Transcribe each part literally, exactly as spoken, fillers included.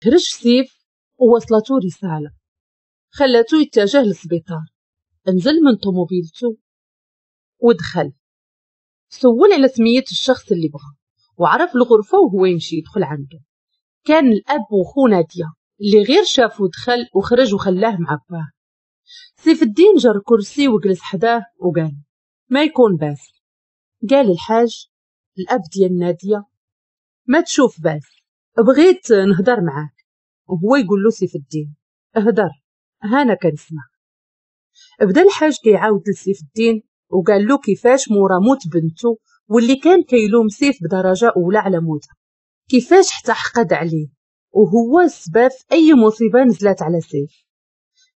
خرج سيف ووصلته رسالة خلته يتجه للسبيطار. نزل من طوموبيلته ودخل، سول على سمية الشخص اللي بغى وعرف الغرفة وهو يمشي يدخل عنده. كان الأب وخو نادية اللي غير شافو دخل وخرج وخلاه مع باه. سيف الدين جر كرسي وجلس حداه وقال ما يكون باس. قال الحاج الأب ديال نادية ما تشوف باس، بغيت نهدر معاك. وهو يقول له سيف الدين اهدر، هانا كنسمع. بدا الحاج كيعاود لسيف الدين وقال له كيفاش مورا موت بنته واللي كان كيلوم سيف بدرجة أولى على موتها، كيفاش حتى حقد عليه وهو السبب في أي مصيبة نزلت على سيف.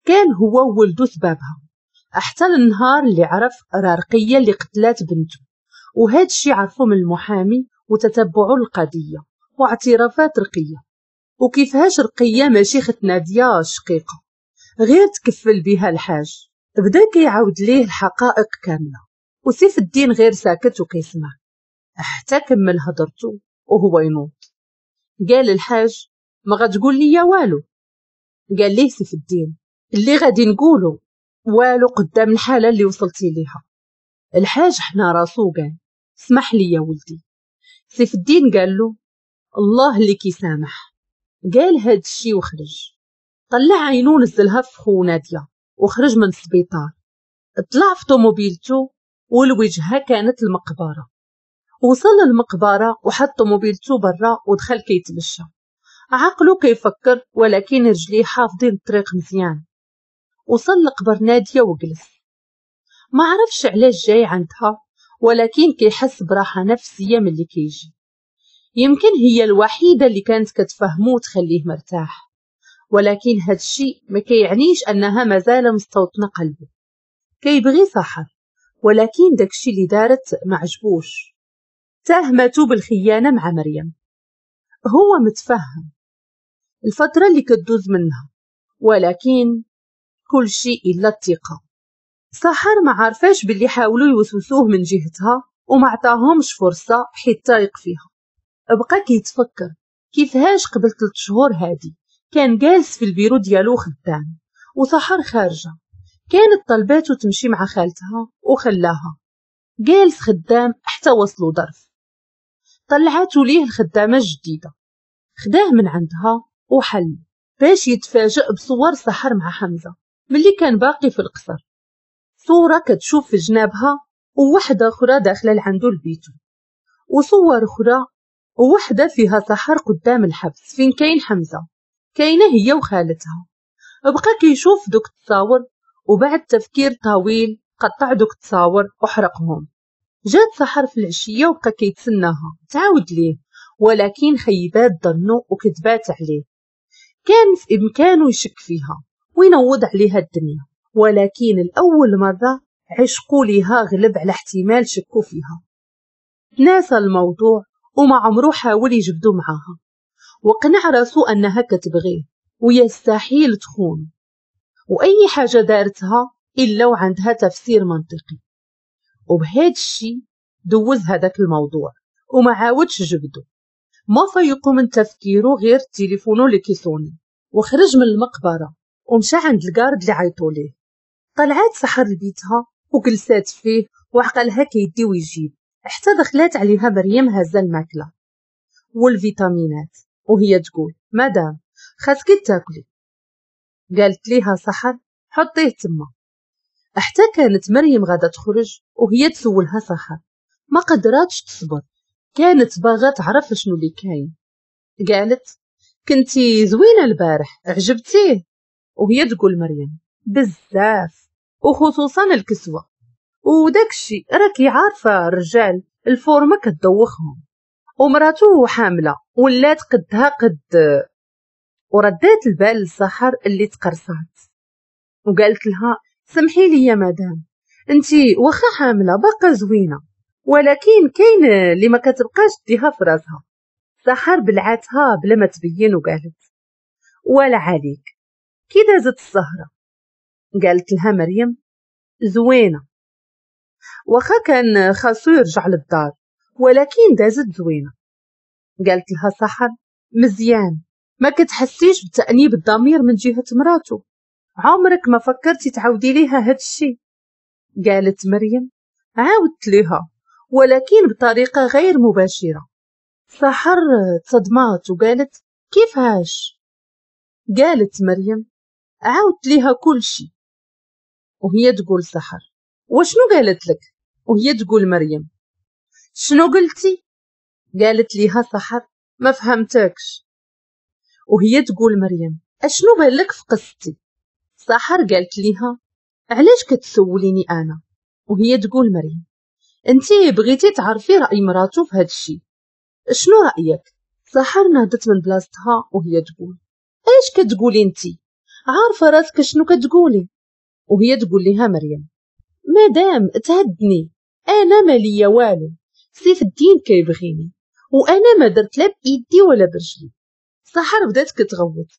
كان هو وولده سبابها حتى النهار اللي عرف رقية اللي قتلات بنته، وهذا الشيء عرفه من المحامي وتتبعوا القضية واعترافات رقية، وكيفاش رقية ماشي خت نادية الشقيقة غير تكفل بها الحاج. بدا كيعاود ليه الحقائق كاملة وسيف الدين غير ساكت وكيسمع حتى كمل هضرته وهو ينوض. قال الحاج ما غتقول لي والو. قال ليه سيف الدين اللي غادي نقوله والو قدام الحالة اللي وصلتي ليها. الحاج حنا راسو قال اسمح لي يا ولدي. سيف الدين قال له الله اللي كيسامح. قال هاد الشي وخرج، طلع عينو نزلها في خو نادية وخرج من السبيطار. طلع في طوموبيلته والوجهة كانت المقبرة. وصل للمقبرة وحط طوموبيلته برا ودخل كيتمشى، عقله كيفكر ولكن رجليه حافظين الطريق مزيان. وصل لقبر نادية وجلس، ما عرفش علاش جاي عندها ولكن كيحس براحة نفسية من اللي كيجي. يمكن هي الوحيدة اللي كانت كتفهمو وتخليه مرتاح، ولكن هادشي ما كيعنيش انها مازال مستوطنة قلبه. كيبغي سحر ولكن داكشي اللي دارت ما عجبوش. تهمته بالخيانة مع مريم. هو متفهم الفترة اللي كدوز منها ولكن كل شيء إلا الثقة. سحر ما عارفاش باللي حاولوا يوسوسوه من جهتها وما عطاهمش فرصة حيت تايق فيها. بقى كيتفكر كيفهاش قبل ثلاث شهور هادي كان جالس في البيرو ديالو خدام وسحر خارجة، كانت طلباته تمشي مع خالتها وخلاها. جالس خدام حتى وصلوا ظرف، طلعاتو ليه الخدامة الجديدة، خداه من عندها وحل باش يتفاجئ بصور سحر مع حمزة ملي كان باقي في القصر. صورة كتشوف في جنابها ووحدة أخرى داخلة لعندو لبيتو، وصور أخرى ووحدة فيها سحر قدام الحبس فين كاين حمزة، كاينة هي وخالتها. بقى كيشوف دوك التصاور وبعد تفكير طويل قطع دوك التصاور وحرقهم. جات سحر في العشية وبقى كيتسناها تعاود ليه، ولكن خيبات ظنو وكذبات عليه. كان في إمكانه يشك فيها وينوض عليها الدنيا، ولكن الأول مرة عشقوا ليها غلب على احتمال شكوا فيها. ناسى الموضوع وما عمرو حاول يجبدو معاها، وقنع راسو أنها كتبغيه ويستحيل تخون، وأي حاجة دارتها إلا وعندها تفسير منطقي. وبهذا الشيء دوز هذاك الموضوع وما عاودش جبدو. ما فيقو من تفكيره غير تليفونو اللي كيصوني، وخرج من المقبرة ومشى عند ال garde اللي عيطوا ليه. طلعات سحر لبيتها وجلسات فيه وعقلها كيدي ويجيب حتى دخلات عليها مريم هازه الماكلة والفيتامينات وهي تقول مدام خاصك تاكلي. قالت ليها سحر حطيه تما. حتى كانت مريم غادا تخرج وهي تسولها سحر، ما قدراتش تصبر، كانت باغا تعرف شنو اللي كاين. قالت كنتي زوينة البارح عجبتيه. وهي تقول مريم بزاف وخصوصا الكسوة وداك الشيء، راكي عارفه الرجال الفورمة كتدوخهم، ومراتو حامله ولات قدها قد. وردات البال لسحر اللي تقرصات وقالت لها سمحي لي يا مدام، انتي واخا حامله باقا زوينة، ولكن كاين اللي ما كتبقاش ديها في راسها. سحر بلعتها بلا ما تبين وقالت ولا عليك. كي دازت السهرة؟ قالت لها مريم زوينة، واخا كان خاصو يرجع للدار ولكن دازت زوينة. قالت لها سحر مزيان، ما كتحسيش بتأنيب الضمير من جهة مراته؟ عمرك ما فكرتي تعاودي ليها هاد الشي؟ قالت مريم عاودت ليها ولكن بطريقة غير مباشرة. سحر تصدمات وقالت كيفاش؟ قالت مريم عاودت ليها كل شي. وهي تقول سحر وشنو قالت لك؟ وهي تقول مريم شنو قلتي؟ قالت ليها سحر ما فهمتكش. وهي تقول مريم اشنو بالك في قصتي؟ سحر قالت ليها علاش كتسوليني انا؟ وهي تقول مريم انتي بغيتي تعرفي راي مراتو في هاد الشي، شنو رايك؟ سحر نهضت من بلاصتها وهي تقول ايش كتقولي انتي؟ عارفه راسك شنو كتقولي؟ وهي تقول لها مريم مادام تهدني، انا ماليا والو، سيف الدين كيبغيني وانا ما درت لا بايدي ولا برجلي. سحر بدات كتغوت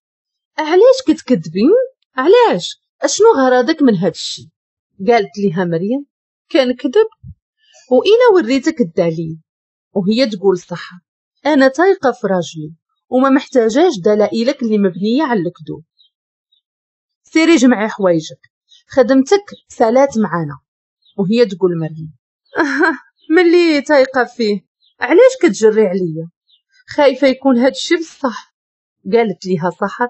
علاش كتكذبين؟ علاش؟ اشنو غرضك من هاد الشي؟ قالت لها مريم كنكذب وإلا وريتك الدليل. وهي تقول سحر انا تايقه في راجلي وما محتاجاش دلائلك اللي مبنية على الكذوب. سيري جمعي حوايجك، خدمتك سالات معانا. وهي تقول مريم ملي تايقه فيه علاش كتجري عليا؟ خايفة يكون هاد الشي بصح. قالت ليها سحر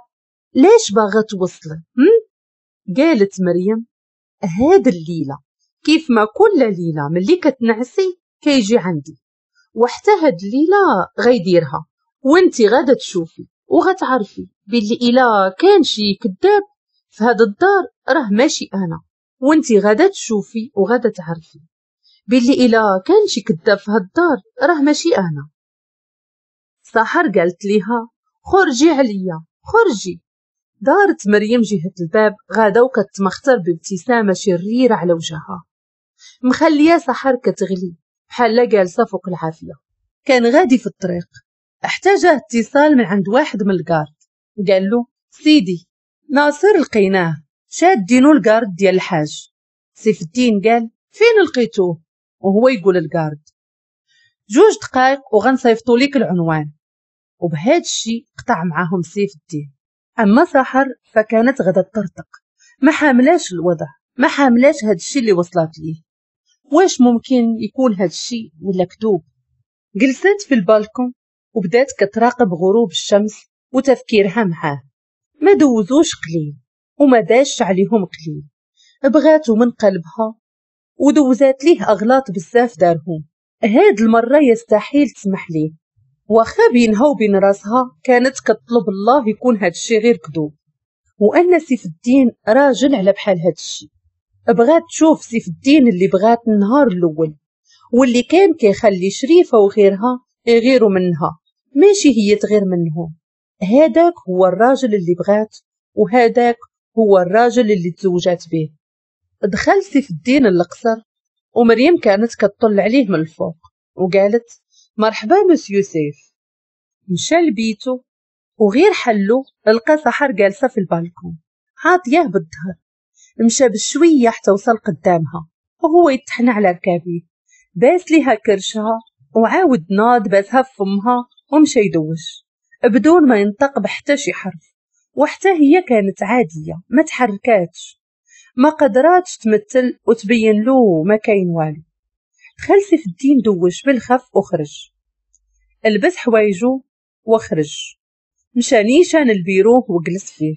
ليش باغا توصلي؟ قالت مريم هاد الليلة كيف ما كل ليلة ملي كتنعسي كيجي عندي، وحتى هاد الليلة غيديرها، وانتي غادا تشوفي وغتعرفي باللي الا كان شي كذاب في هاد الدار راه ماشي انا، وانتي غادا تشوفي وغادا تعرفي باللي الا كان شي كذاب في هاد الدار راه ماشي انا. سحر قالت ليها خرجي عليا خرجي. دارت مريم جهة الباب غادا وكتمختر بابتسامة شريرة على وجهها، مخلية سحر كتغلي بحال جالسة فوق العافية. كان غادي في الطريق احتاجه اتصال من عند واحد من ال garde، قال له سيدي ناصر لقيناه شادينو ال garde ديال الحاج. سيف الدين قال فين لقيتوه؟ وهو يقول ال garde جوج دقائق وغنصيفطوا ليك العنوان. وبهذا الشيء قطع معاهم سيف الدين. اما سحر فكانت غدا تطرطق، ما حاملاش الوضع، ما حاملاش هذا الشيء اللي وصلت ليه. واش ممكن يكون هذا الشيء ولا كذوب؟ جلست في البالكون وبدات كتراقب غروب الشمس وتفكيرها معاه. ما دوزوش قليل وما داش عليهم قليل، بغاتو من قلبها ودوزات ليه اغلاط بزاف دارهم. هاد المرة يستحيل تسمح ليه، واخا بينها وبين راسها كانت كتطلب الله يكون هاد الشيء غير كذوب، وان سيف الدين راجل على بحال هاد الشيء. بغات تشوف سيف الدين اللي بغات النهار الاول واللي كان كيخلي شريفه وغيرها يغيروا منها، ماشي هي تغير منهم. هذاك هو الراجل اللي بغات، وهذاك هو الراجل اللي تزوجات به. دخل سيف الدين القصر ومريم كانت كتطل عليه من الفوق وقالت مرحبا مسيو سيف. مشى لبيتو وغير حلو لقى سحر جالسة في البالكون عاطياه بالظهر. مشى بشوية حتى وصل قدامها وهو يتحنى على ركابيه، باس ليها كرشها وعاود ناض باسها في فمها ومشى يدوش بدون ما ينطق بحتى شي حرف. وحتى هي كانت عادية ما تحركاتش، ما قدراتش تمثل وتبين له ما كاين والو. دخل سيف الدين دوش بالخف وخرج، لبس حوايجو وخرج، مشى نيشان البيرو وجلس فيه.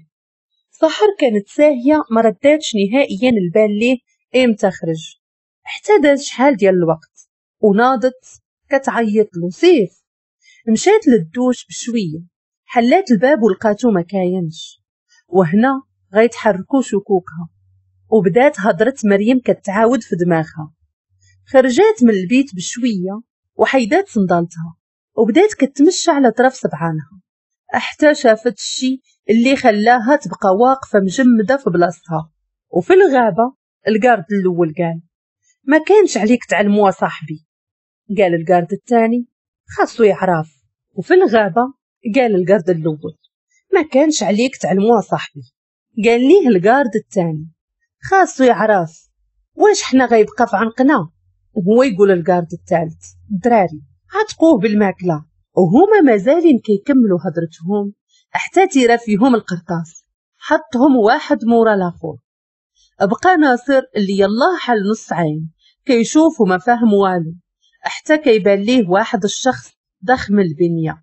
سحر كانت ساهيه ما رداتش نهائيا البال ليه امتى خرج، حتى داز شحال ديال الوقت وناضت كتعيط له سيف. مشات للدوش بشوية، حلات الباب ولقاتو ما كاينش، وهنا غيتحركو شكوكها وبدات هضره مريم كتعاود في دماغها. خرجات من البيت بشوية وحيدات صندالتها وبدات كتمشى على طرف سبعانها حتى شافت الشي اللي خلاها تبقى واقفة مجمده في بلاصتها. وفي الغابة ال garde الاول قال ما كانش عليك تعلموا صاحبي. قال ال garde الثاني خاصو يعرف. وفي الغابة قال ال garde الاول ما كانش عليك تعلموا صاحبي. قال ليه ال garde الثاني خاصو يعرف، واش حنا غيبقى في عنقنا؟ وهو يقول ال garde الثالث الدراري عتقوه بالماكله. وهما مازالين كيكملوا هضرتهم حتى تيرا فيهم القرطاس، حطهم واحد مورا لاخر. بقى ناصر اللي يلاه حل نص عين كيشوف وما فاهم والو، حتى كيبان ليه واحد الشخص ضخم البنية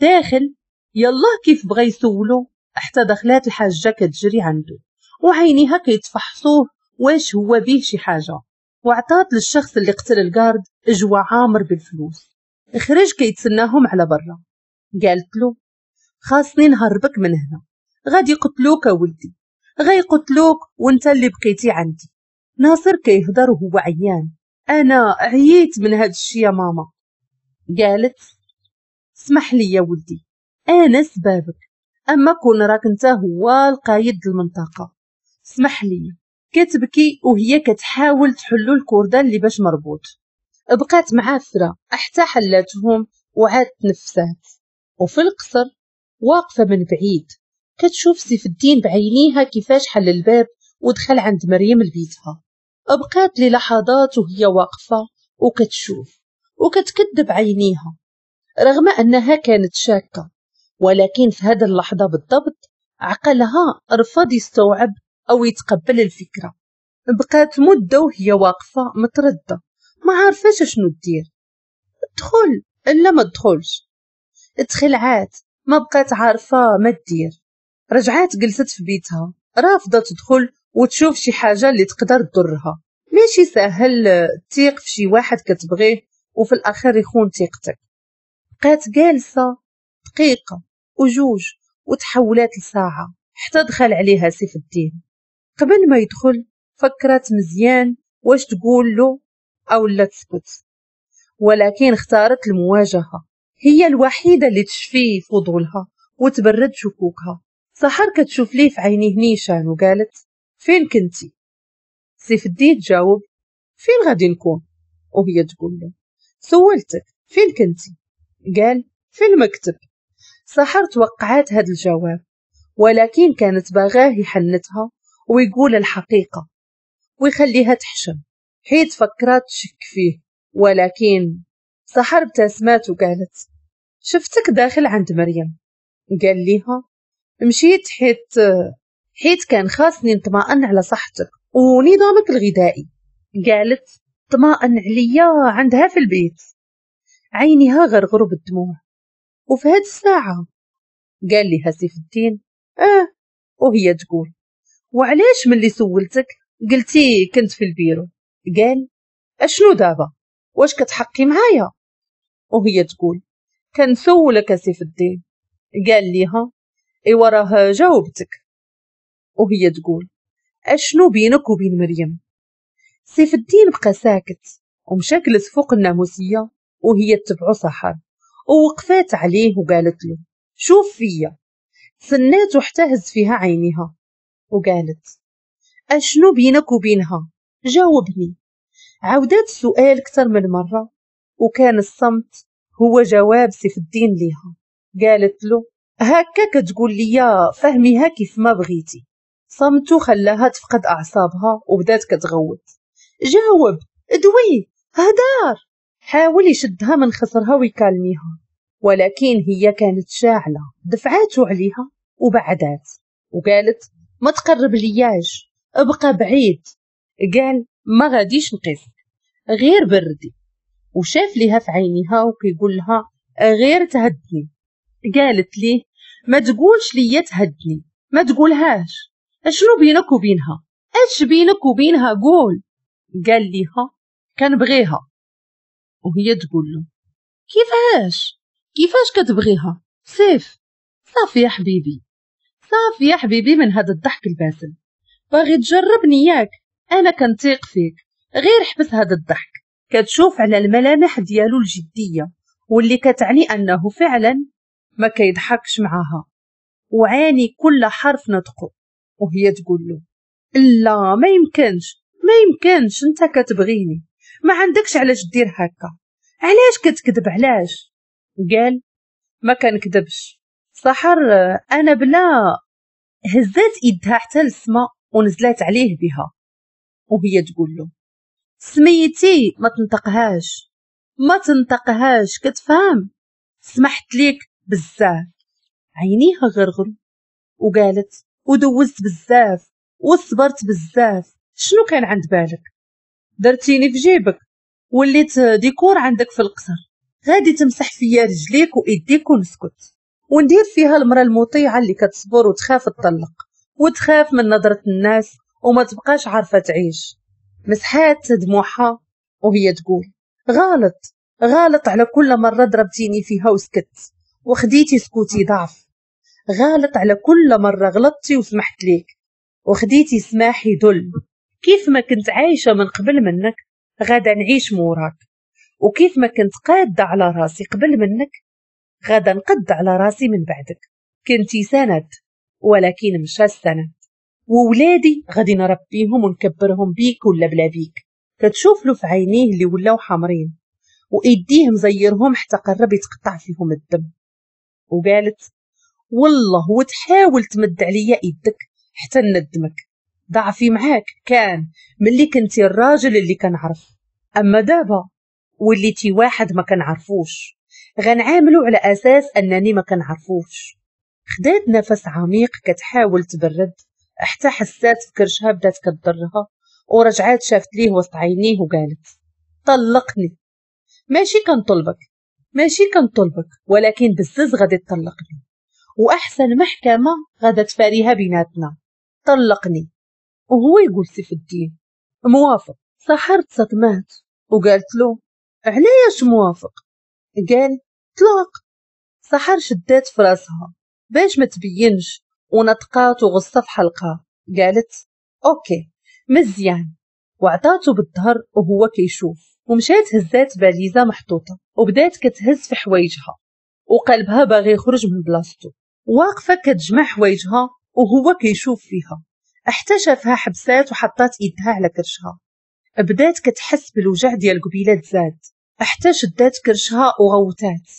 داخل. يلاه كيف بغى يسولو حتى دخلات الحاجة كتجري عنده وعينيها كيتفحصوه واش هو بيه شي حاجة، وعطات للشخص اللي قتل ال garde جوا عامر بالفلوس. خرج كيتسناهم على برا. قالت له خاصني نهربك من هنا، غادي يقتلوك ولدي، غيقتلوك وانت اللي بقيتي عندي. ناصر كيهضر وهو عيان، انا عييت من هاد الشي يا ماما. قالت اسمح لي يا ولدي، انا سبابك، اما كون راك انت هو القايد المنطقة، اسمح لي. كتبكي وهي كتحاول تحلو الكوردان اللي باش مربوط. بقات معافره حتى حلاتهم وعاد تنفسات. وفي القصر واقفة من بعيد كتشوف سيف الدين بعينيها كيفاش حل الباب ودخل عند مريم لبيتها. بقات للحظات وهي واقفة وكتشوف وكتكذب عينيها، رغم انها كانت شاكه، ولكن في هذه اللحظة بالضبط عقلها رفض يستوعب او يتقبل الفكرة. بقات مده وهي واقفة مترددة، ما عارفاش شنو دير، تدخل الا ما تدخلش. تخلعات، ما بقات عارفه ما دير. رجعات جلست في بيتها رافضه تدخل وتشوف شي حاجة اللي تقدر تضرها. ماشي سهل تثيق في شي واحد كتبغيه وفي الاخر يخون ثقتك. بقات جالسة دقيقة وجوج وتحولات لساعة حتى دخل عليها سيف الدين. قبل ما يدخل فكرت مزيان واش تقول له او لا تسكت، ولكن اختارت المواجهة، هي الوحيدة اللي تشفي فضولها وتبرد شكوكها. سحر كتشوف ليه في عينيه نيشان وقالت فين كنتي؟ سيف الدين جاوب فين غادي نكون؟ وهي تقول له سولتك فين كنتي؟ قال في المكتب. سحر توقعات هذا الجواب، ولكن كانت باغاه يحنتها ويقول الحقيقة ويخليها تحشم، حيت فكرات تشك فيه. ولكن سحر ابتسمات وقالت شفتك داخل عند مريم. قال ليها مشيت حيت حيت كان خاصني نطمئن على صحتك ونظامك الغذائي. قالت طمأن عليا عندها في البيت. عينيها غرغروا بالدموع. وفي هاد الساعة قال لها سيف الدين اه، وهي تقول وعلاش ملي سولتك قلتي كنت في البيرو؟ قال اشنو دابا، واش كتحقي معايا؟ وهي تقول كنسولك سيف الدين. قال ليها ايوا راه جاوبتك. وهي تقول اشنو بينك وبين مريم؟ سيف الدين بقى ساكت ومشى جلس فوق الناموسيه وهي تبعو سحر ووقفات عليه وقالت له شوف فيا. سناتو حتى هز فيها عينيها وقالت اشنو بينك وبينها؟ جاوبني. عاودات السؤال اكثر من مرة وكان الصمت هو جواب سيف الدين ليها. قالت له هكا كتقول لي فهميها كيف ما بغيتي. صمتو خلاها تفقد اعصابها وبدات كتغوت جاوب، ادوي، هدار. حاول يشدها من خصرها ويكالميها، ولكن هي كانت شاعله، دفعاتو عليها وبعدات وقالت ما تقرب لياش، ابقى بعيد. قال ما غاديش نقيسك، غير بردي. وشاف ليها في عينيها وكيقول لها غير تهدني. قالت ليه ما تقولش ليا تهدني، ما تقولهاش، اشنو بينك وبينها؟ اش بينك وبينها قول. قال ليها كنبغيها. وهي تقول له كيفاش كيفاش كتبغيها؟ سيف صافي يا حبيبي، صافي يا حبيبي من هذا الضحك الباسل، باغي تجربني ياك؟ انا كنثيق فيك، غير حبس هذا الضحك. كتشوف على الملامح ديالو الجدية واللي كتعني انه فعلا ما كيضحكش معاها، وعاني كل حرف نطقه. وهي تقول له لا ما يمكنش، ما يمكنش، انت كتبغيني، ما عندكش علاش دير هكا، علاش كتكذب، علاش؟ قال ما كنكذبش سحر، انا بلا. هزات ايدها حتى للسما ونزلات عليه بها وهي تقول له سميتي ما تنطقهاش، ما تنطقهاش، كتفهم؟ سمحت ليك بزاف. عينيها غرغروا وقالت ودوزت بزاف وصبرت بزاف، شنو كان عند بالك؟ درتيني في جيبك، وليت ديكور عندك في القصر، غادي تمسح فيا رجليك وايديك ونسكت، وندير فيها المرأة المطيعة اللي كتصبر وتخاف تطلق وتخاف من نظرة الناس وما تبقاش عارفة تعيش. مسحات دموعها وهي تقول غلط غلط على كل مرة ضربتيني فيها وسكت وخديتي سكوتي ضعف، غلط على كل مرة غلطتي وسمحت ليك وخديتي سماحي ذل. كيف ما كنت عايشة من قبل منك غادا نعيش موراك، وكيف ما كنت قادة على راسي قبل منك غادا نقد على راسي من بعدك. كنتي سند ولكن مشى السند، وولادي غادي نربيهم ونكبرهم بيك ولا بلا بيك. كتشوف له في عينيه اللي ولاو حمرين وايديه مزيرهم حتى قرب يتقطع فيهم الدم، وقالت والله وتحاول تمد عليا ايدك حتى ندمك، ضعفي معاك كان ملي كنتي الراجل اللي كنعرف، اما دابا وليتي واحد ما كنعرفوش، غنعاملو على اساس انني ما كنعرفوش. خدات نفس عميق كتحاول تبرد حتى حسات في كرشها بدات كتضرها، ورجعات شافت ليه وسط عينيه وقالت طلقني، ماشي كنطلبك ماشي كنطلبك ولكن بزز غادي تطلقني، واحسن محكمة غادا تفاريها بيناتنا، طلقني. وهو يقول سيف الدين موافق. سحر تصدمات وقالت له علاش موافق؟ قال طلاق. سحر شدات في راسها باش ما تبينش ونطقات وغصه في حلقها، قالت OK مزيان، وعطاتو بالظهر وهو كيشوف، ومشات هزات باليزه محطوطة وبدات كتهز في حوايجها وقلبها باغي يخرج من بلاصتو. واقفة كتجمع حوايجها وهو كيشوف فيها حتى شافها حبسات وحطات ايدها على كرشها. بدات كتحس بالوجع ديال قبيلة زاد حتى شدات كرشها وغوتات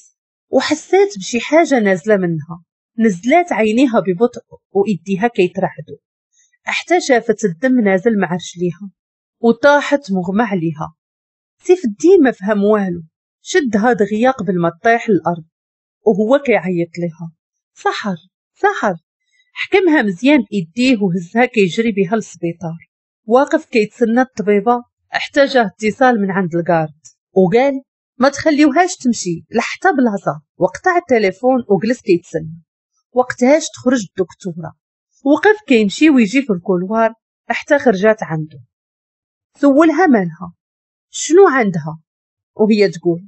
وحسات بشي حاجة نازله منها. نزلات عينيها ببطء وايديها كيترعدوا حتى شافت الدم نازل مع رجليها وطاحت مغمى عليها. سيف الدين ما فهم والو، شدها دغيا قبل ما تطيح الارض وهو كيعيط لها سحر سحر. حكمها مزيان بايديه وهزها كيجري بها للسبيطار. واقف كيتسنى الطبيبة حتى جاه اتصال من عند ال garde وقال ما تخليوهاش تمشي لحتى بلاصة، وقطع التليفون وجلس كيتسنى وقتهاش تخرج الدكتورة. وقف كيمشي ويجي في ال couloir حتى خرجات عنده. سولها مالها شنو عندها، وهي تقول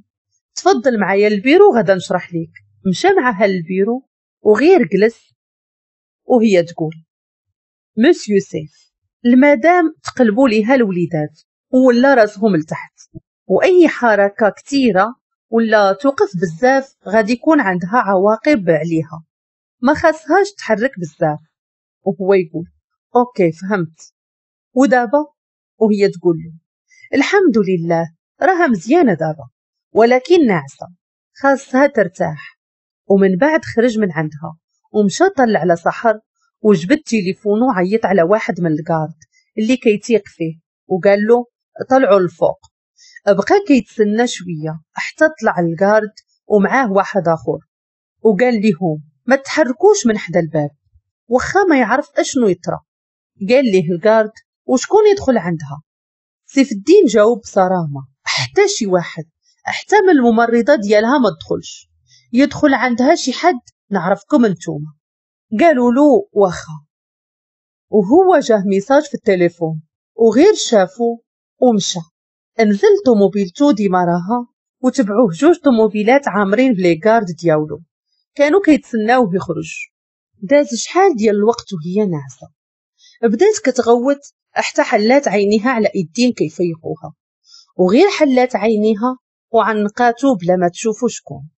تفضل معايا البيرو غدا نشرح ليك. مشى معاها للبيرو وغير جلس وهي تقول مسيو سيف المدام تقلبوا ليها الوليدات ولا راسهم لتحت، واي حركة كثيرة ولا توقف بزاف غادي يكون عندها عواقب عليها، ما خاصهاش تحرك بزاف. وهو يقول OK فهمت. ودابا؟ وهي تقول له الحمد لله راها مزيانه دابا ولكن ناعسه خاصها ترتاح. ومن بعد خرج من عندها ومشى طلع على سحر وجبد تليفونه وعيط على واحد من ال garde اللي كيتيق فيه وقال له طلعوا للفوق. بقى كيتسنى شوية حتى طلع ال garde ومعاه واحد اخر وقال لهم ما تحركوش من حدا الباب واخا ما يعرف اشنو يطرى. قال ليه ال garde وشكون يدخل عندها؟ سيف الدين جاوب بصرامه حتى شي واحد، حتى من الممرضة ديالها ما تدخلش، يدخل عندها شي حد نعرفكم انتوما. قالوا له واخا. وهو جاه message في التليفون وغير شافو ومشى. نزل طوموبيلتو ديماراها وتبعوه جوج طوموبيلات عامرين ب les gardes ديالو كانوا كيتسناوه يخرج. داز شحال ديال الوقت وهي ناعسه، بدات كتغوت حتى حلات عينيها على ايدين كيفيقوها، وغير حلات عينيها وعنقاتو بلا ما تشوفو شكون.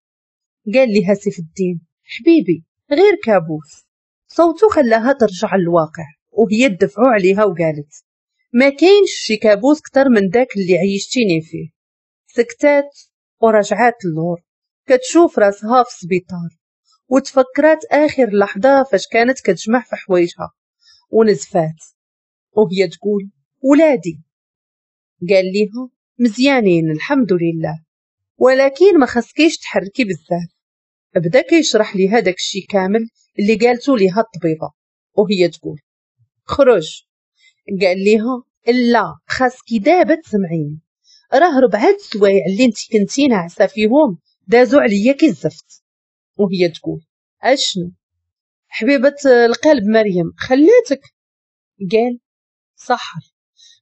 قال لها سيف الدين حبيبي غير كابوس. صوتو خلاها ترجع للواقع وهي تدفعو عليها وقالت ما كاينش شي كابوس كتر من داك اللي عيشتيني فيه. سكتات ورجعات اللور كتشوف راسها في السبيطار وتفكرات اخر لحظة فاش كانت كتجمع في حوايجها ونزفات وهي تقول ولادي. قال ليها مزيانين الحمد لله ولكن ما خصكيش تحركي بزاف. بدا كيشرح ليها داكشي كامل اللي قالتو ليها الطبيبة، وهي تقول خرج. قال ليها لا، خاصك دابا تسمعيني، راه ربعة السوايع اللي انت كنتي ناعسه فيهم دازو عليا كي الزفت. وهي تقول اشنو حبيبه القلب مريم خلاتك؟ قال سحر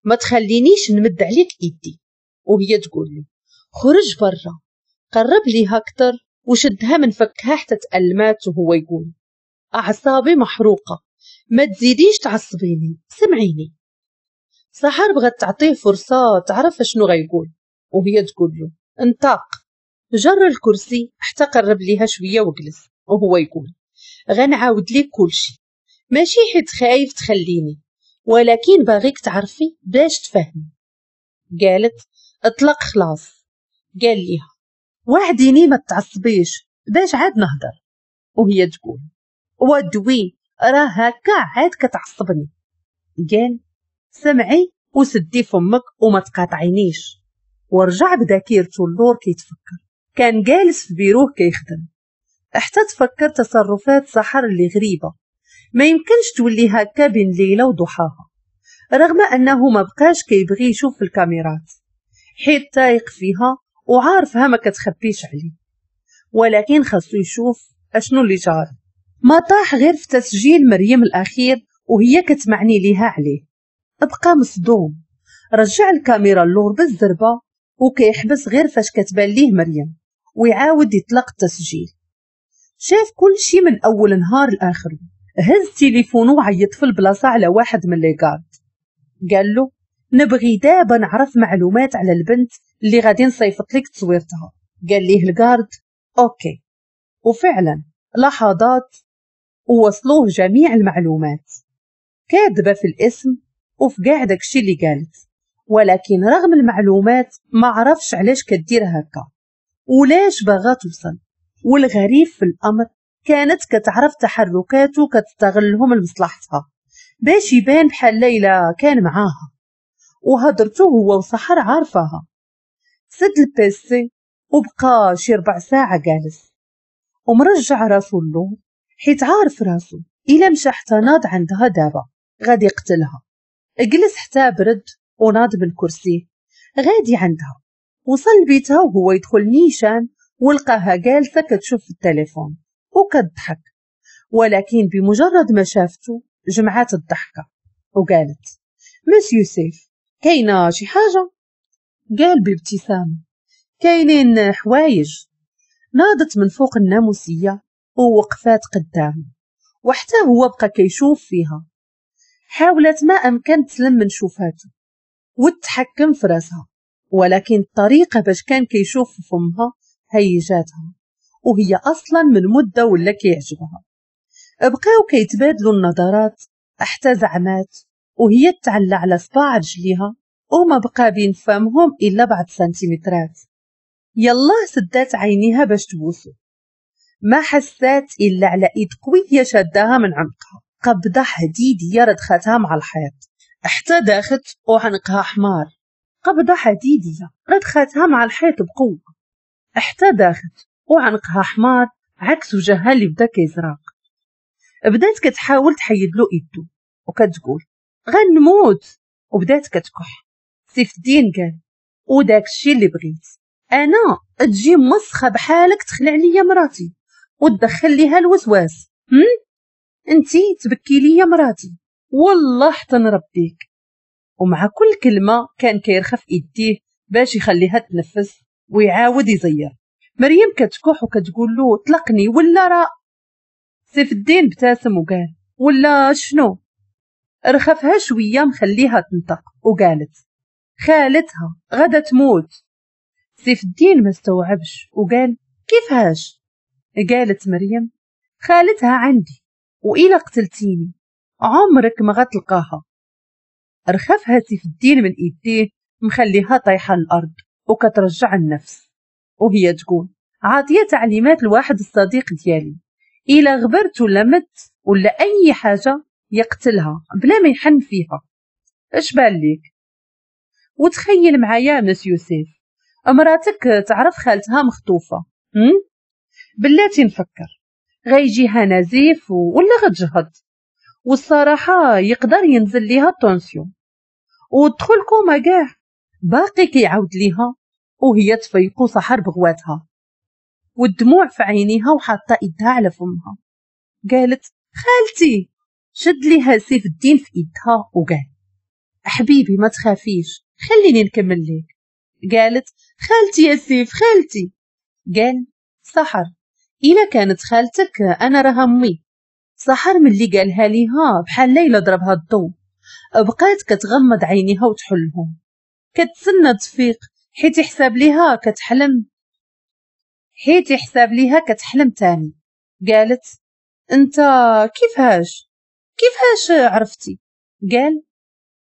ما تخلينيش نمد عليك ايدي. وهي تقول له خرج برا. قرب ليها اكثر وشدها من فكها حتى تألمات، وهو يقول اعصابي محروقة، ما تزيديش تعصبيني، سمعيني. سحر بغات تعطيه فرصة تعرف شنو غيقول، وهي تقول له انطق. جر الكرسي حتى قرب ليها شوية وجلس، وهو يقول غنعاود ليك كلشي، ماشي حيت خايف تخليني، ولكن باغيك تعرفي باش تفهمي. قالت اطلق خلاص. قال ليها وعديني ما تعصبيش باش عاد نهضر. وهي تقول ودوي، راه هكا عاد كتعصبني. قال سمعي وسدي فمك وما تقاطعينيش. ورجع بذاكرته اللور كيتفكر، كان جالس في بيروه كيخدم حتى تفكر تصرفات سحر اللي غريبة، ما يمكنش تولي هكا بين ليلة وضحاها، رغم انه ما بقاش كيبغي يشوف في الكاميرات حيت تايق فيها وعارفها ما كتخبيش عليه، ولكن خاصو يشوف اشنو اللي جار. ما طاح غير في تسجيل مريم الاخير وهي كتمعني ليها عليه، بقى مصدوم. رجع الكاميرا اللور بالزربه وكيحبس غير فاش كتبان ليه مريم ويعاود يطلق التسجيل. شاف كل شي من اول نهار لاخره. هز تليفونه وعيط في البلاصة على واحد من les gardes، قال له نبغي دابا نعرف معلومات على البنت اللي غادي نصيفط لك تصويرتها. قال ليه ال garde OK، وفعلا لحظات ووصلوه جميع المعلومات، كاذبة في الاسم وفي كاع داكشي اللي قالت، ولكن رغم المعلومات ما عرفش علاش كدير هكا ولاش باغا توصل. والغريب في الامر كانت كتعرف تحركاته كتستغلهم لمصلحتها باش يبان بحال ليلى كان معاها، وهضرته هو وسحر عارفاها. سد ال PC وبقى شي ربع ساعة جالس ومرجع راسو اللور، حيت عارف راسو الا مشى حتى ناض عندها دابا غادي يقتلها. جلس حتى برد وناض من كرسيه غادي عندها. وصل لبيتها وهو يدخل نيشان ولقاها جالسة كتشوف في التليفون وكتضحك، ولكن بمجرد ما شافته جمعات الضحكة وقالت مسيو سيف كاينه شي حاجة؟ قال بابتسامة كاينين حوايج. ناضت من فوق الناموسيه ووقفات قدامه، وحتى هو بقى كيشوف فيها. حاولت ما امكن تسلم من شوفاته وتحكم في راسها، ولكن الطريقة باش كان كيشوف في فمها هيجاتها، وهي اصلا من مده ولا كيعجبها. بقاو كيتبادلوا النظرات حتى زعمات وهي تعلى على صباع رجليها، وما بقى بين فمهم الا بعض سنتيمترات. يلا سدات عينيها باش تبوسو، ما حسات الا على ايد قوية شداها من عنقها، قبضه حديديه ردختها مع الحيط حتى داخت وعنقها حمار. قبضه حديديه ردختها مع الحيط بقوة حتى داخت وعنقها حمار، عكس وجهها اللي بدا كيزرق. بدات كتحاول تحيد له ايدو وكتقول غنموت، وبدات كتكح. سيف الدين قال وداك الشيء اللي بغيت انا، تجي مسخه بحالك تخلع ليا مراتي وتدخل ليها الوسواس، هم انتي تبكي ليا مراتي والله حتى نربيك. ومع كل كلمة كان كيرخف ايديه باش يخليها تنفس ويعاود يزير. مريم كتكح وكتقول له طلقني ولا راه. سيف الدين ابتسم وقال ولا شنو؟ رخفها شوية مخليها تنطق وقالت خالتها غدا تموت. سيف الدين ما استوعبش وقال كيفاش؟ قالت مريم خالتها عندي وإلا قتلتيني عمرك ما غتلقاها. رخفها سيف الدين من ايديه مخليها طايحة الارض وكترجع النفس، وهي تقول عاطيه تعليمات لواحد الصديق ديالي إلا غبرت ولا مت ولا اي حاجة يقتلها بلا ما يحن فيها. اش بان ليك؟ وتخيل معايا مسيو سيف مراتك تعرف خالتها مخطوفه، هم؟ بلاتي نفكر، غيجيها نزيف ولا غتجهض، والصراحة يقدر ينزل ليها ال tension وتدخل كوما كاع. باقي كيعاود ليها وهي تفيقو سحر بغواتها والدموع في عينيها وحاطه ايدها على فمها. قالت خالتي. شد ليها سيف الدين في ايدها وقال حبيبي ما تخافيش خليني نكمل ليك. قالت خالتي يا سيف خالتي. قال سحر إلا كانت خالتك أنا راها أمي. سحر ملي قالها ليها بحال ليلى ضربها الضو، بقات كتغمض عينيها وتحلهم كتسنى تفيق حيت يحساب ليها كتحلم، حيت يحساب ليها كتحلم تاني. قالت انت كيفاش كيفاش عرفتي؟ قال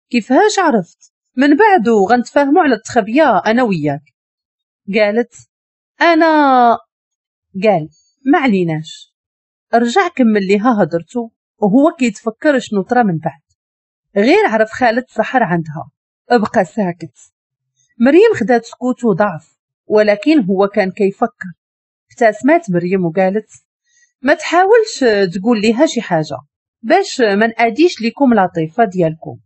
كيفاش عرفت؟ من بعد غنتفاهموا على التخبيه انا وياك. قالت انا. قال ما عليناش. رجع كمل ليها هضرته وهو كيتفكر شنو طرا من بعد. غير عرف خالد سحر عندها بقى ساكت. مريم خدات سكوت وضعف، ولكن هو كان كيفكر. ابتسمات مريم وقالت ما تحاولش تقول ليها شي حاجة باش ما ناديش لكم لطيفة ديالكم،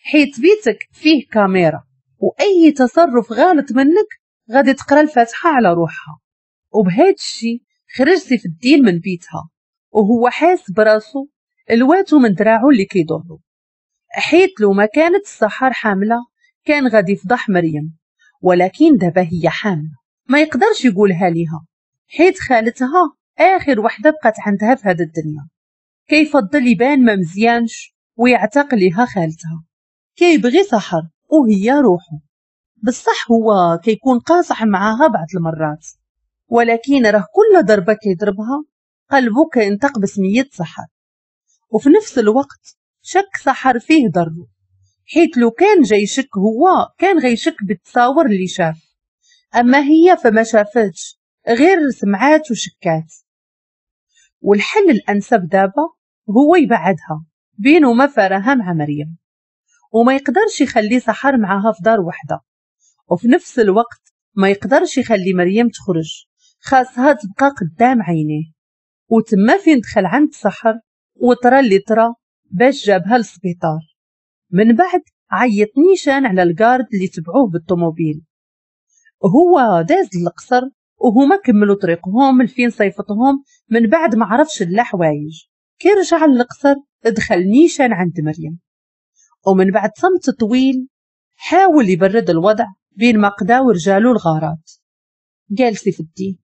حيت بيتك فيه كاميرا واي تصرف غلط منك غادي تقرا الفاتحة على روحها. وبهذا الشيء خرج سيف الدين من بيتها وهو حاس براسو الواتو من دراعو اللي كيضرو، حيت لو ما كانت السحر حامله كان غادي يفضح مريم، ولكن دابا هي حامله ما يقدرش يقولها ليها حيت خالتها اخر وحده بقات عندها في هذا الدنيا. كيفضل يبان ما مزيانش ويعتق ليها خالتها. كيبغي سحر وهي روحه، بصح هو كيكون قاصح معاها بعض المرات، ولكن راه كل ضربه كيضربها قلبه كينطق بسميه سحر. وفي نفس الوقت شك سحر فيه ضربه، حيت لو كان جاي يشك هو كان غيشك بالتصاور اللي شاف، اما هي فما شافتش غير سمعات وشكات. والحل الانسب دابا هو يبعدها بينه ما فراها مع مريم، وما يقدرش يخلي سحر معاها في دار وحده، وفي نفس الوقت ما يقدرش يخلي مريم تخرج، خاصها تبقى قدام عينيه. وتما فين دخل عند سحر وطرا اللي طرا باش جابها للسبيطار. من بعد عيط نيشان على ال garde اللي تبعوه بالطوموبيل. هو داز للقصر وهما كملوا طريقهم لفين صيفطهم من بعد ما عرفش لا حوايج. كي رجع للقصر دخل نيشان عند مريم، ومن بعد صمت طويل حاول يبرد الوضع بين ما قداو رجالو الغارات. قال سيف الدين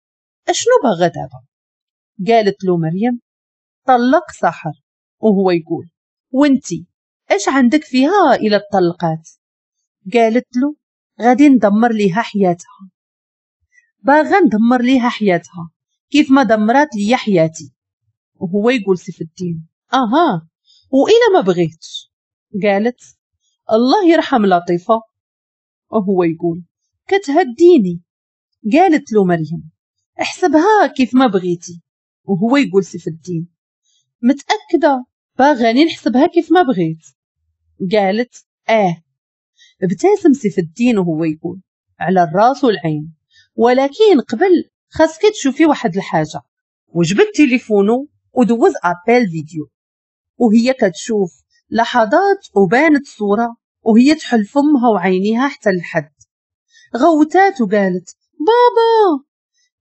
اشنو باغا دابا؟ قالت له مريم طلق سحر. وهو يقول وانتي اش عندك فيها الى الطلقات؟ قالت له غادي ندمر ليها حياتها، باغا ندمر ليها حياتها كيف ما دمرات ليا حياتي. وهو يقول سيف الدين اها والى ما بغيتش؟ قالت الله يرحم لطيفة. وهو يقول كتهديني. قالت له مريم احسبها كيف ما بغيتي. وهو يقول سيف الدين متأكدة باغاني نحسبها كيف ما بغيت؟ قالت اه. ابتسم سيف الدين وهو يقول على الراس والعين، ولكن قبل خاصك تشوفي واحد الحاجة. وجبد تليفونه ودوز appel vidéo وهي كتشوف لحظات وبانت صورة وهي تحل فمها وعينيها حتى الحد. غوتات وقالت بابا.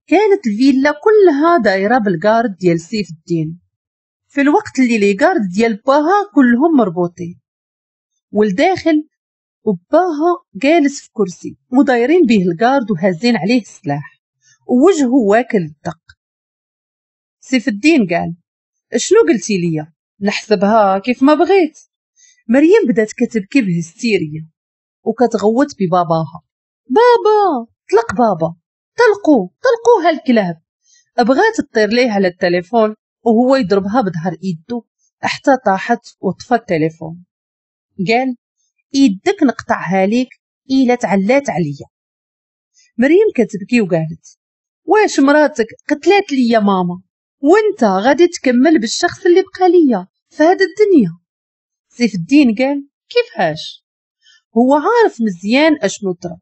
كانت الفيلا كلها دايرة بال garde ديال سيف الدين، في الوقت اللي les gardes ديال باها كلهم مربوطين والداخل، وباها جالس في كرسي ودايرين به ال garde وهازين عليه السلاح ووجهه واكل الدق. سيف الدين قال شنو قلتي ليا؟ نحسبها كيف ما بغيت. مريم بدات كتبكي بهستيريا وكتغوت بباباها بابا طلق بابا طلقوا طلقوها الكلاب. بغات تطير ليه على التليفون وهو يضربها بظهر ايده حتى طاحت وطفى التليفون. قال ايدك نقطعها ليك الا تعلات عليا. مريم كتبكي وقالت واش مراتك قتلات ليا ماما وانت غادي تكمل بالشخص اللي بقى ليا في هذا الدنيا. سيف الدين قال كيفاش؟ هو عارف مزيان اشنو طرا،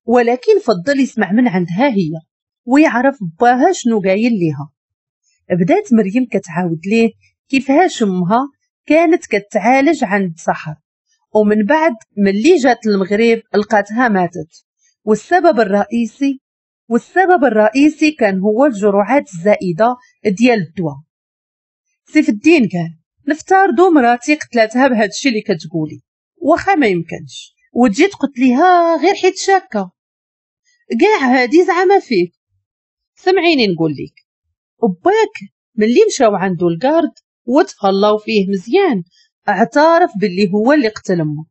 ولكن فضل يسمع من عندها هي. ويعرف باها شنو قايل ليها. بدات مريم كتعاود ليه كيفاش امها كانت كتعالج عند سحر، ومن بعد ملي جات المغرب لقاتها ماتت، والسبب الرئيسي والسبب الرئيسي كان هو الجرعات الزائدة ديال الدواء. سيف الدين قال نفترضوا مراتي قتلتها بهذا الشيء اللي كتقولي، واخا ما يمكنش وتجي تقتليها غير حيت شاكه، كاع هادي زعما فيك. سمعيني نقول لك، باك ملي مشاو عنده ال garde وتهلاو فيه مزيان اعترف باللي هو اللي قتل امك.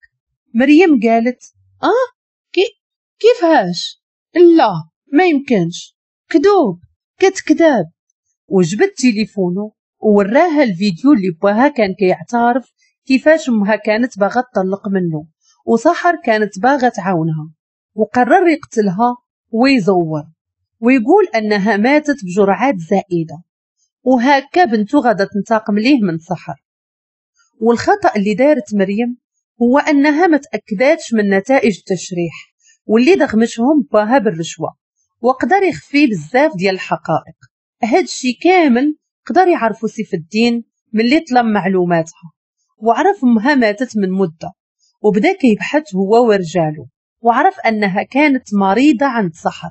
مريم قالت اه كي كيفاش؟ لا ما يمكنش، كذوب كتكذب. وجبد تليفونه ووراها الفيديو اللي باها كان كيعترف كيفاش امها كانت باغا تطلق منه وسحر كانت باغا تعاونها، وقرر يقتلها ويزور ويقول انها ماتت بجرعات زائدة، وهكا بنته غادا تنتقم ليه من سحر. والخطأ اللي دارت مريم هو انها ما تاكداتش من نتائج التشريح واللي دغمشهم باها بالرشوة، وقدر يخفي بزاف ديال الحقائق. هادشي كامل قدر يعرفو سيف الدين ملي طلب معلوماتها وعرف امها ماتت من مده، وبدا كيبحث هو ورجاله وعرف انها كانت مريضه عند سحر،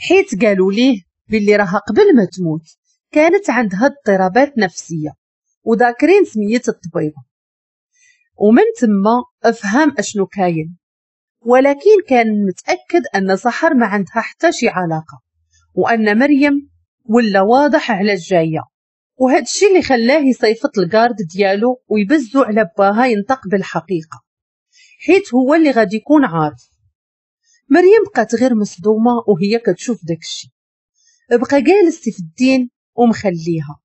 حيت قالوا ليه باللي راها قبل ما تموت كانت عندها اضطرابات نفسية وذاكرين سميه الطبيبة. ومن تما افهم اشنو كاين، ولكن كان متاكد ان سحر ما عندها حتى شي علاقة وان مريم ولا واضح على الجاية، وهذا الشيء اللي خلاه يصيفط ال garde ديالو ويبزو على باها ينطق بالحقيقة، حيت هو اللي غادي يكون عارف. مريم بقات غير مصدومة وهي كتشوف داكشي. بقى جالس سيف الدين ومخليها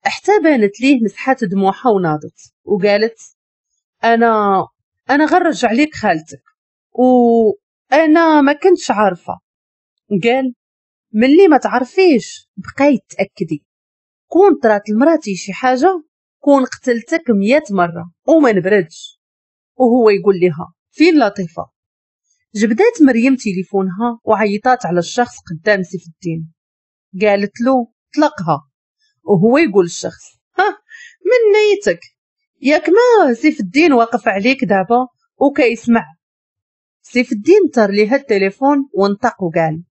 حتى بانت ليه مسحات دموعها وناضت وقالت انا انا غنرجع ليك خالتك وانا ما كنتش عارفه. قال ملي ما تعرفيش بقاي تاكدي، كون طرات لمراتي شي حاجة كون قتلتك مية مرة وما نبردش. وهو يقول لها فين لطيفة؟ جبدات مريم تليفونها وعيطات على الشخص قدام سيف الدين، قالت له طلقها. وهو يقول الشخص ها من نيتك، ياك ما سيف الدين واقف عليك دابا وكيسمع. سيف الدين طار ليها التليفون وانطق وقال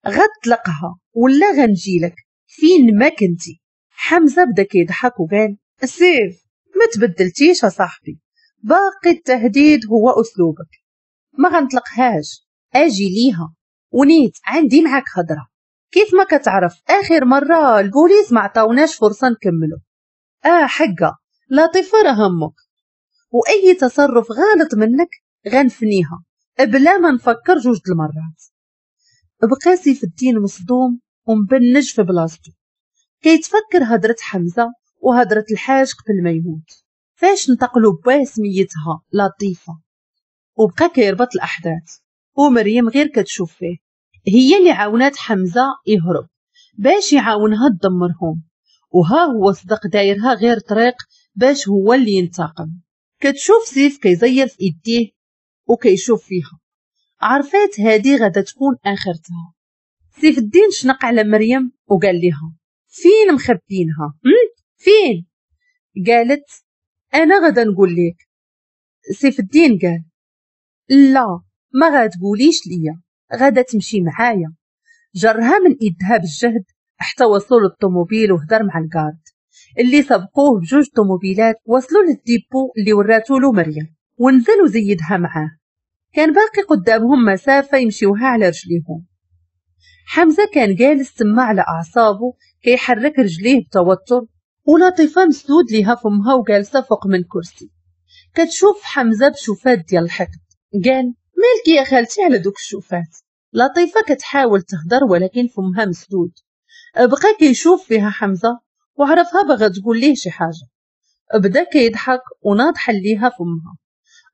غطلقها ولا غنجيلك فين ما كنتي. حمزة بدا كيضحك وقال سيف ما تبدلتيش صاحبي، باقي التهديد هو اسلوبك، ما غنطلقهاش اجي ليها ونيت عندي معاك هضره. كيف ما كتعرف اخر مرة البوليس ما عطاوناش فرصة نكملو. اه حقه لطيفة راه همك، واي تصرف غلط منك غنفنيها بلا ما نفكر جوج المرات. بقى سيف الدين مصدوم ومبنج في بلاصتو كيتفكر هضره حمزة وهضره الحاج قبل ما يموت، فاش نتقلوا باه سميتها لطيفة. وبقى كيربط الاحداث ومريم غير كتشوف فيه، هي اللي عاونات حمزة يهرب باش يعاونها تدمرهم، وها هو صدق دايرها غير طريق باش هو اللي ينتقم. كتشوف سيف كيزير في ايديه وكيشوف فيها، عرفات هادي غادا تكون اخرتها. سيف الدين شنق على مريم وقال لها فين مخبينها؟ فين؟ قالت انا غادا نقول لك. سيف الدين قال لا ما غاتقوليش ليا، غادا تمشي معايا. جرها من ايدها بالجهد حتى وصلوا للطوموبيل وهدر مع ال garde اللي سبقوه بجوج طوموبيلات. وصلوا لل dépôt اللي وراتو له مريم ونزل وزيدها معاه. كان باقي قدامهم مسافة يمشيوها على رجليهم. حمزة كان جالس تما على اعصابه كيحرك رجليه بتوتر، ولطيفة مسدود ليها فمها وجالسه فوق من كرسي كتشوف حمزة بشوفات ديال الحقد. قال مالك يا خالتي على دوك الشوفات؟ لطيفة كتحاول تهدر ولكن فمها مسدود. بقى كيشوف فيها حمزة وعرفها بغا تقول ليه شي حاجة، بدا كيضحك وناض حليها فمها،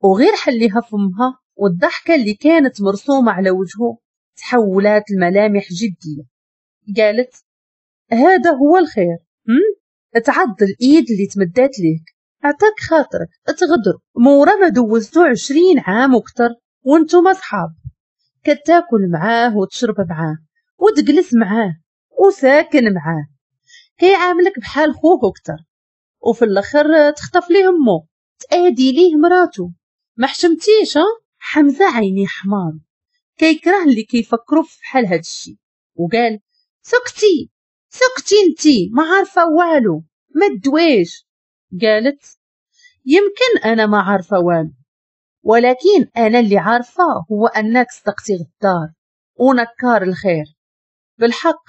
وغير حليها فمها والضحكه اللي كانت مرسومه على وجهه تحولات الملامح جدية. قالت هذا هو الخير، هم؟ تعض الايد اللي تمدات ليك، عطاك خاطرك تغدر مورا ما دوزتو عشرين عام وكتر وانتم اصحاب، كتاكل معاه وتشرب معاه وتجلس معاه وساكن معاه، كيعاملك بحال خوه اكثر، وفي الاخر تخطف ليه امو، تادي ليه مراتو، ما حشمتيش؟ ها حمزة عيني حمار، كيكره اللي كيفكروا في بحال هاد الشيء، وقال سكتي سكتي انتي ما عارفه والو، ما تدويش. قالت يمكن انا ما عارفه والو، ولكن انا اللي عارفه هو انك صدقتي غدار ونكار الخير. بالحق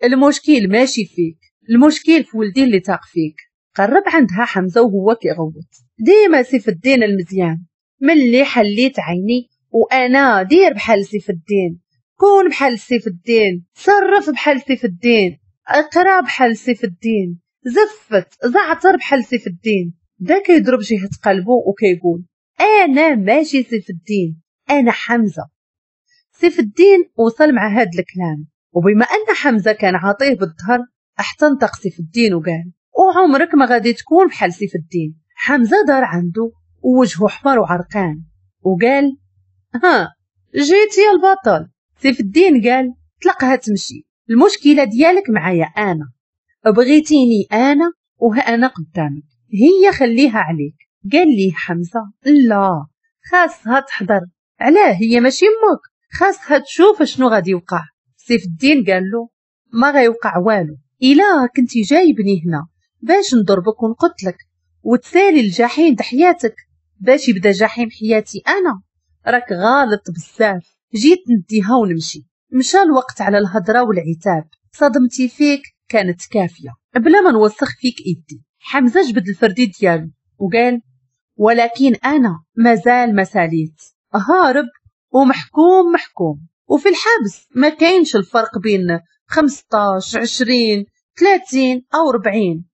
المشكل ماشي فيك، المشكل في ولدي اللي تاق فيك. قرب عندها حمزة وهو كيغوت ديما سيف الدين المزيان، ملي حليت عيني وانا دير بحال سيف الدين، كون بحال سيف الدين، تصرف بحال سيف الدين، اقرا بحال سيف الدين، زفت زعتر بحال سيف الدين. دا كيضرب جهة قلبه وكيقول انا ماشي سيف الدين، انا حمزة. سيف الدين وصل مع هاد الكلام، وبما ان حمزة كان عاطيه بالظهر احتنطق سيف الدين وقال وعمرك ما غادي تكون بحال سيف الدين. حمزة دار عنده ووجهه احمر وعرقان وقال ها جيت يا البطل. سيف الدين قال طلقها تمشي، المشكلة ديالك معايا انا، بغيتيني انا وها انا قدامك، هي خليها عليك. قال لي حمزة لا، خاصها تحضر، علاه هي ماشي امك، خاصها تشوف شنو غادي يوقع. سيف الدين قال له ما غيوقع والو، الا كنتي جايبني هنا باش نضربك ونقتلك وتسالي الجحيم د حياتك باش يبدا جحيم حياتي انا، راك غالط بزاف، جيت نديها ونمشي. مشى الوقت على الهضرة والعتاب، صدمتي فيك كانت كافيه بلا ما نوسخ فيك ايدي. حمزة جبد الفردي ديالو وقال ولكن انا مازال ما ساليت، هارب ومحكوم محكوم، وفي الحبس ما كاينش الفرق بين خمسطاش عشرين ثلاثين او أربعين،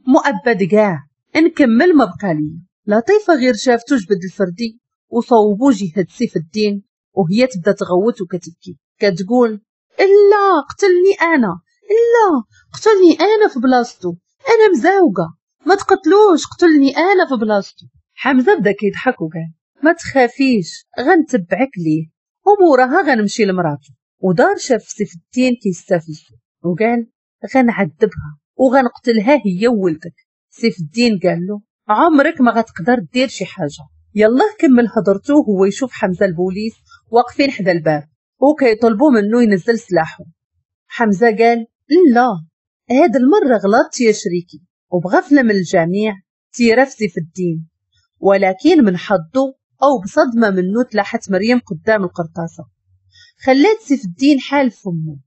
مؤبد كاع، نكمل ما بقى لي. لطيفة غير شافتو جبد الفردي وصوبو جهة سيف الدين، وهي تبدا تغوت وكتبكي كتقول لا قتلني انا، لا قتلني انا في بلاصتو، انا مزاوقه، ما تقتلوش، قتلني انا في بلاصتو. حمزة بدا كيضحك وقال ما تخافيش غنتبعك ليه وموراها غنمشي لمراتو. ودار شاف سيف الدين كيستفزو وقال غنعذبها وغنقتلها هي وولدك. سيف الدين قال له عمرك ما غتقدر دير شي حاجة. يلا كمل هضرته وهو يشوف حمزة البوليس واقفين حدا الباب وكيطلبوا منه ينزل سلاحه. حمزة قال لا، هاد المرة غلطت يا شريكي، وبغفله من الجميع تيرا في سيف الدين، ولكن من حظه او بصدمة منه تلاحت مريم قدام القرطاسه، خلات سيف الدين حال فمه،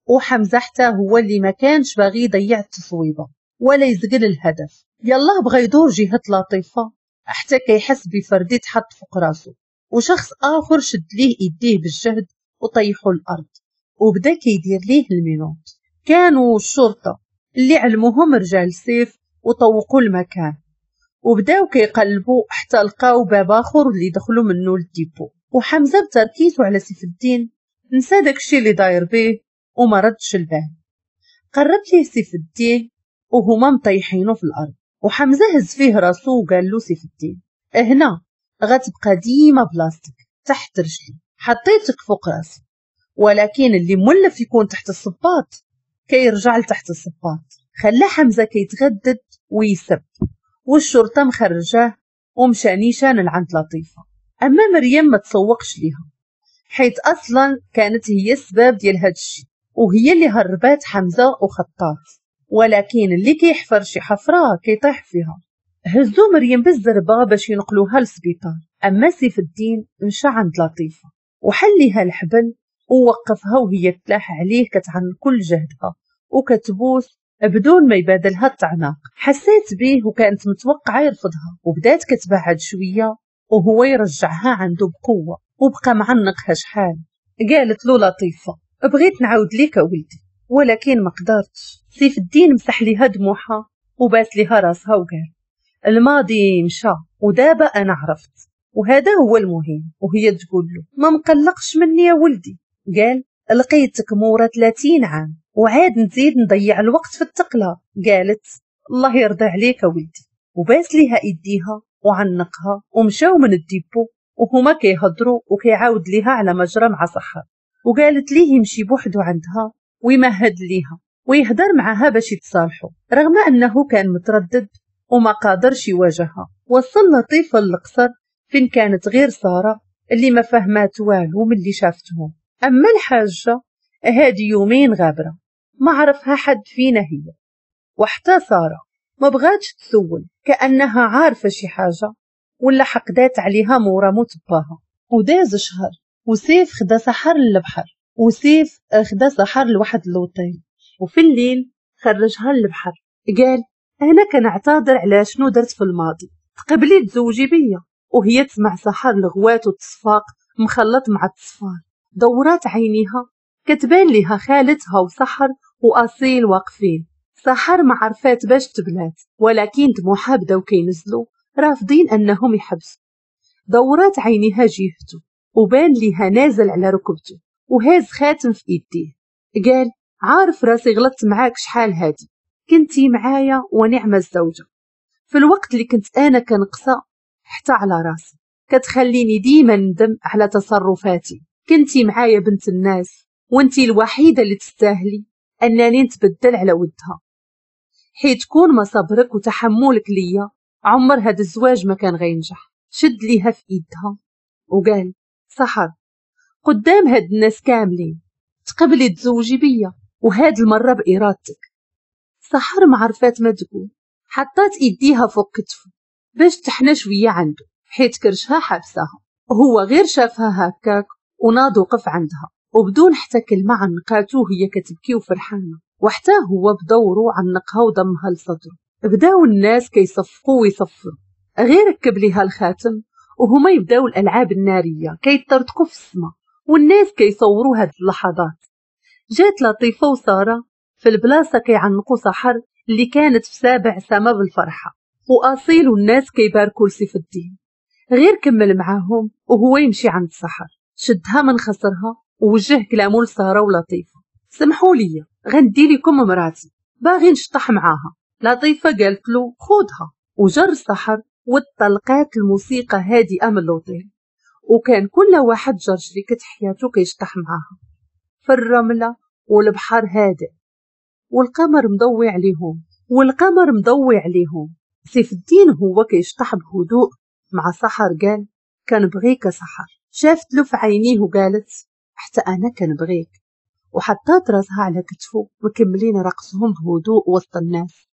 وحمزة حتى هو اللي ما كانش باغي يضيع التصويبه ولا يزقل الهدف. يلا بغى يدور جهة لطيفة حتى كيحس بفردي تحط فوق راسه، وشخص اخر شد ليه ايديه بالجهد وطيحوا الارض وبدا كيدير ليه ال menottes. كانوا الشرطة اللي علموهم رجال سيف وطوقوا المكان، وبداو كيقلبوا حتى لقاو باب اخر اللي دخلوا منه لل dépôt. وحمزة بتركيزه على سيف الدين نسى داكشي اللي داير به وما ردش البال. قرب ليه سيف الدين وهما مطيحينه في الارض، وحمزة هز فيه راسو وقال له سيف الدين هنا غتبقى ديما بلاصتك تحت رجلي، حطيتك فوق راسي، ولكن اللي مولف يكون تحت الصباط كيرجع لتحت الصباط. خلى حمزة كيتغدد ويسب، والشرطة مخرجاه ومشى نيشان لعند لطيفة. اما مريم ما تسوقش ليها، حيث اصلا كانت هي السبب ديال هاد الشيء، وهي اللي هربات حمزة وخطات، ولكن اللي كيحفر شي حفره كيطيح فيها. هزو مريم بالزربه باش ينقلوها للسبيطار. اما سيف الدين مشى عند لطيفة وحليها الحبل ووقفها، وهي تلاح عليه كتعن كل جهدها وكتبوس بدون ما يبادلها التعناق. حسيت به وكانت متوقعه يرفضها، وبدات كتبعد شوية وهو يرجعها عنده بقوة وبقى معنقها شحال. قالت له لطيفة بغيت نعاود ليك ولدي ولكن ما قدرتش. سيف الدين مسح ليها دموعها وباس ليها راسها وقال الماضي مشى ودابا انا عرفت وهذا هو المهم. وهي تقول له ما مقلقش مني يا ولدي. قال لقيتك مورا ثلاثين عام وعاد نزيد نضيع الوقت في التقلة. قالت الله يرضى عليك ولدي، وباس ليها ايديها وعنقها ومشاو من ال dépôt وهما كيهضروا وكيعاود ليها على مجرى مع سحر. وقالت ليه يمشي بوحده عندها ويمهد ليها ويهدر معها باش يتصالحوا، رغم أنه كان متردد وما قادرش يواجهها. وصل لطيفة للقصر فين كانت غير سارة اللي ما فهمات والو من اللي شافتهم. أما الحاجة هادي يومين غابرة ما عرفها حد فينا هي، وحتى سارة ما بغاتش تسول كأنها عارفة شي حاجة ولا حقدات عليها مورا موت باها. وداز شهر وسيف خدا سحر للبحر، وسيف خدا سحر لواحد اللوطيل، وفي الليل خرجها للبحر. قال انا كنعتذر على شنو درت في الماضي، تقبلي تزوجي بيا. وهي تسمع سحر الغوات والتصفاق مخلط مع التصفار. دورات عينيها كتبان ليها خالتها وسحر واصيل واقفين. سحر ما عرفات باش تبلات، ولكن دموعها بداو كينزلوا رافضين انهم يحبسوا. دورات عينيها جهته وبان ليها نازل على ركبته وهاز خاتم في ايديه. قال عارف راسي غلطت معاك شحال هادي، كنتي معايا ونعمة الزوجة في الوقت اللي كنت انا كنقصى حتى على راسي، كتخليني ديما ندم على تصرفاتي. كنتي معايا بنت الناس وانتي الوحيدة اللي تستاهلي انني نتبدل على ودها، حيت كون ما صبرك وتحملك ليا عمر هاد الزواج ما كان غينجح. شد ليها في ايدها وقال سحر قدام هاد الناس كاملين تقبلي تزوجي بيا، وهاد المرة بإرادتك. سحر ما عرفات ما تقول، حطات ايديها فوق كتفه باش تحنى شوية عنده حيت كرشها حابساها. هو غير شافها هكاك وناض وقف عندها، وبدون حتى كلمة عنقاته وهي كتبكي وفرحانة، وحتى هو بدوره عنقها وضمها لصدره. بداو الناس كيصفقوا ويصفروا، غير ركب ليها الخاتم وهما يبداو الألعاب النارية كيطرطقوا في السما والناس كيصوروا هاد اللحظات. جات لطيفة وسارة في البلاصة كيعنقوا سحر اللي كانت في سابع سما بالفرحة، وأصيل والناس كيباركوا لسيف الدين. غير كمل معاهم وهو يمشي عند سحر، شدها من خصرها ووجه كلامه لسارة ولطيفة. سمحوا لي غندي لكم مراتي باغي نشطح معاها. لطيفة قالت له خذها، وجر سحر وطلقات الموسيقى هادئة من اللوطيل، وكان كل واحد جر شريكة حياته كيشطح معاها في الرملة، والبحر هادئ والقمر مضوي عليهم والقمر مضوي عليهم. سيف الدين هو كيشطح بهدوء مع سحر، قال كنبغيك سحر. شافت له في عينيه وقالت حتى انا كنبغيك، وحطات راسها على كتفه مكملين رقصهم بهدوء وسط الناس،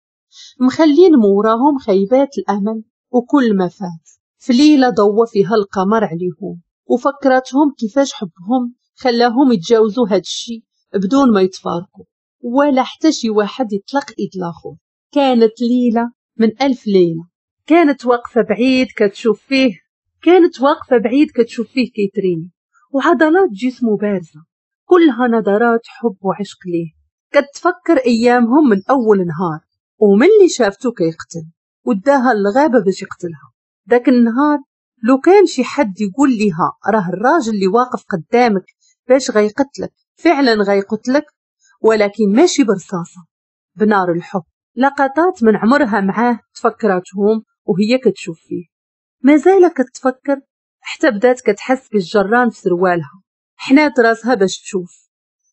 مخلين موراهم خيبات الامل وكل ما فات. في ليلة ضوى فيها القمر عليهم وفكرتهم كيفاش حبهم خلاهم يتجاوزوا هاد الشي بدون ما يتفارقوا ولا حتى شي واحد يطلق ايد الاخر. كانت ليلة من ألف ليلة. كانت واقفة بعيد كتشوف فيه كانت واقفة بعيد كتشوف فيه كيتريني، وعضلات جسمه بارزة كلها نظرات حب وعشق ليه. كتفكر ايامهم من اول نهار، ومن اللي شافته كيقتل وداها للغابه باش يقتلها. داك النهار لو كان شي حد يقول ليها راه الراجل اللي واقف قدامك باش غيقتلك فعلا غيقتلك، ولكن ماشي برصاصه، بنار الحب. لقطات من عمرها معاه تفكراتهم وهي كتشوف فيه، مازال كتفكر حتى بدات كتحس بالجران في سروالها. حنات راسها باش تشوف.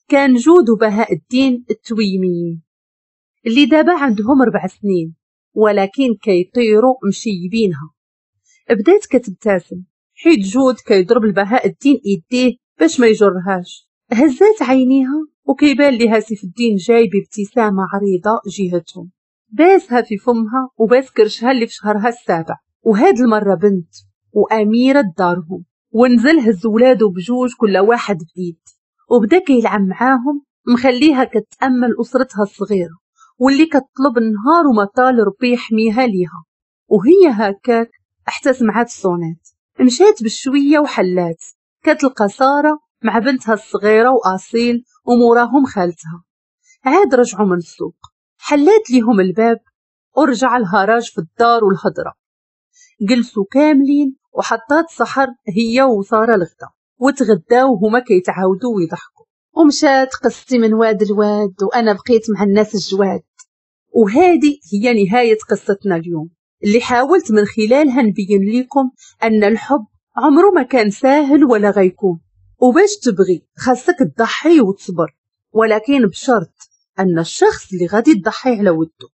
كان جود وبهاء الدين التويميين اللي دابا عندهم ربع سنين ولكن كيطيروا مشيبينها. بدات كتبتسم حيت جود كيضرب البهاء الدين ايديه باش ما يجرهاش. هزات عينيها وكيبان ليها سيف الدين جاي بابتسامة عريضة جهتهم، باسها في فمها وباس كرشها اللي في شهرها السابع، وهاد المرة بنت واميره دارهم. ونزل هز ولادو بجوج كل واحد بايد وبدا كيلعب معاهم، مخليها كتامل اسرتها الصغيرة واللي كتطلب النهار وما طال ربي يحميها ليها. وهي هكاك حتى سمعات الصونات، مشات بشوية وحلات كتلقى ساره مع بنتها الصغيرة واصيل وموراهم خالتها. عاد رجعوا من السوق، حلات ليهم الباب ورجع الهراج في الدار والهضره. جلسوا كاملين وحطات سحر هي وسارة الغدا وتغداو وهما كيتعاودوا ويضحكوا. ومشات قصتي من واد الواد وانا بقيت مع الناس الجواد. وهذه هي نهاية قصتنا اليوم اللي حاولت من خلالها نبين لكم ان الحب عمره ما كان ساهل ولا غيكون، وباش تبغي خاصك تضحي وتصبر، ولكن بشرط أن الشخص اللي غادي تضحي على وده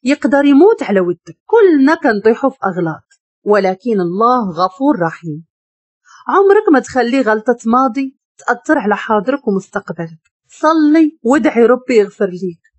يقدر يموت على ودك. كلنا كنطيحوا في أغلاط، ولكن الله غفور رحيم. عمرك ما تخلي غلطة ماضي تأثر على حاضرك ومستقبلك. صلي وادعي ربي يغفر ليك.